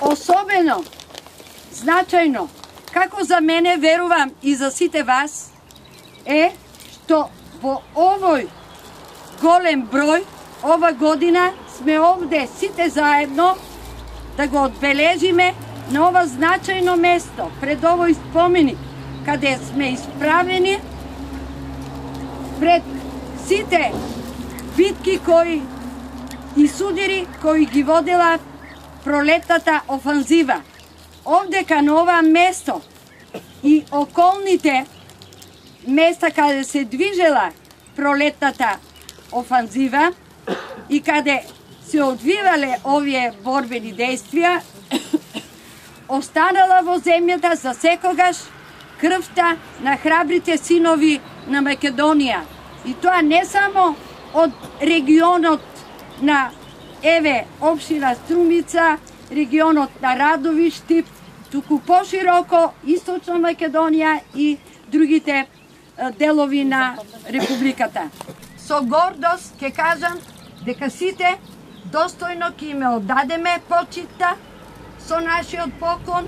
особено значајно, како за мене, верувам и за сите вас, е што во овој голем број, ова година сме овде сите заедно да го одбележиме на ова значајно место, пред овој споменик, каде сме исправени пред сите битки и судири кои ги водела пролетната офанзива. Овде кај ова место и околните места каде се движела пролетната офанзива и каде се одвивале овие борбени действија, останала во земјата за секогаш крвта на храбрите синови на Македонија. И тоа не само од регионот на општина Струмица, регионот на Радовишти, туку пошироко Источна Македонија и другите делови на Републиката. Со гордост ќе кажам дека сите достојно ќе им оддадеме почитта со нашиот поклон